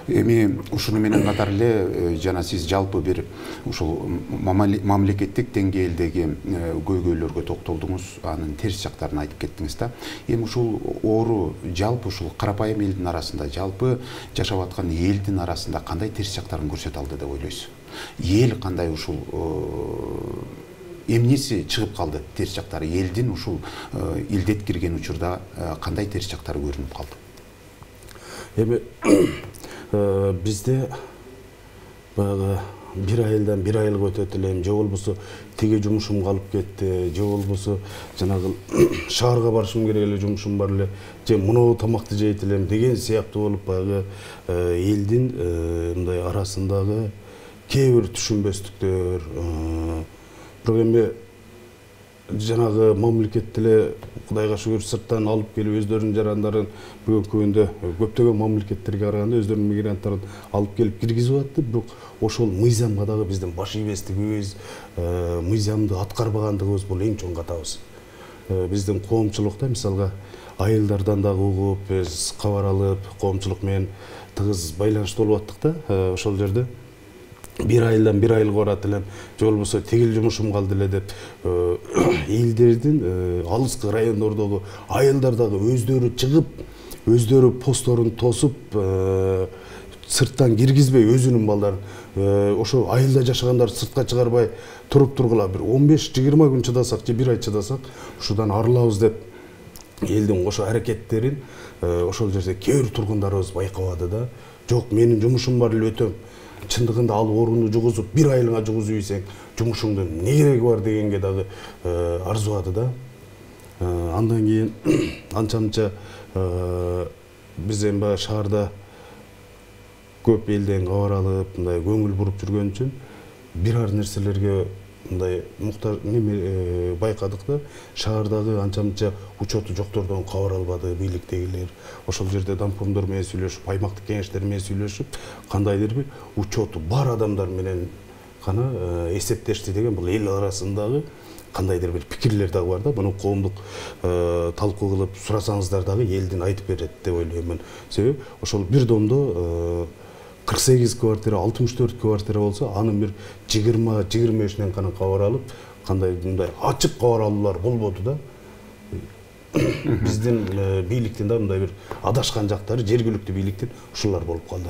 Эми ушуну менен катар эле жана сиз жалпы бир ушул мамлекеттик деңгээлдеги көйгөйлөргө токтолдуңуз, анын терс жактарын айтып кеттиңиз да. Эми ушул оору жалпы ушул карапайым элдин арасында, жалпы жашап аткан элдин арасында кандай терс жактарын көрсөтө алды деп ойлойсуз? Эл кандай ушул эмнеси чыгып калды терс жактары? Элдин ушул илдет кирген учурда кандай терс жактары көрүнүп калды? Эми бизде баягы бир айылдан бир айылга өтөт элем, же болбосо тиги жумушум калып кетти, же болбосо жанагы шаарга барышым керек эле, жумушум бар эле, же мынау тамакты жейт элем деген сыяктуу болуп баягы элдин мындай арасындагы кээ бир түшүнбөстүктөр, бирок эми жанагы мамлекет эле Кудайга шүгүр сырттан алып келип өздөрүнүн жарандарын бүгүнкү күндө көптөгөн мамлекеттерге караганда өздөрүнүн мигранттарын алып келип киргизип атты, бирок ошол мыйзамга дагы биздин баш ийбестигибиз, мыйзамды аткарбагандыгыбыз бул эң чоң катабыз. Биздин коомчулукта мисалга айылдардан дагы угуп, биз кабар алып, коомчулук менен тыгыз байланышта болуп аттык да, ошол жерде бир айылдан бир айылга барат элем, же болбосо тигил жумушум калды эле деп элдердин алыскы райондордогу айылдар дагы өздөрү чыгып, өздөрү постторун тосуп, сырттан киргизбей өзүнүн балдарын ошо айылда жашагандар сыртка чыгарбай туруп тургула бир 15-20 күн чыдасак же бир ай чыдасак ушудан арылабыз деп элдин ошо аракеттерин ошол жерде кээ бир тургундарыбыз байкабады да. Жок, менин жумушум бар эле, өтөм. Чындыгында ал ооруну жугузуп бир айылыңа жугузуп ийсең жумушуңдун эмне кереги бар дегенге дагы арзубады да. Андан кийин анча-мынча биз эми баягы шаарда көп элден кабар алып, мындай көңүл буруп жүргөн үчүн бир ар нерселерге мындай муктаж байкадык да. Шаардагы анча-мынча учету жоктордон кабар албады бийликтегилер. Ошол жерде дампомдор менен сүйлөшүп, аймактык кеңештер менен сүйлөшүп, кандайдыр бир учету бар адамдар менен гана эсептешти деген бул эл арасындагы кандайдыр бир пикирлер дагы бар да. Муну коомдук талкуу кылып сурасаңыздар дагы элдин айтып берет деп ойлойм мен. Себеби ошол бир домдо 48 квартира, 64 квартира болсо, анын бир 20-25 гана кабар алып, кандай мындай ачык кабар алуулар болбоду да. Биздин бийликтин да мындай бир адашкан жактары жергиликтүү бийликтин ушулар болуп калды.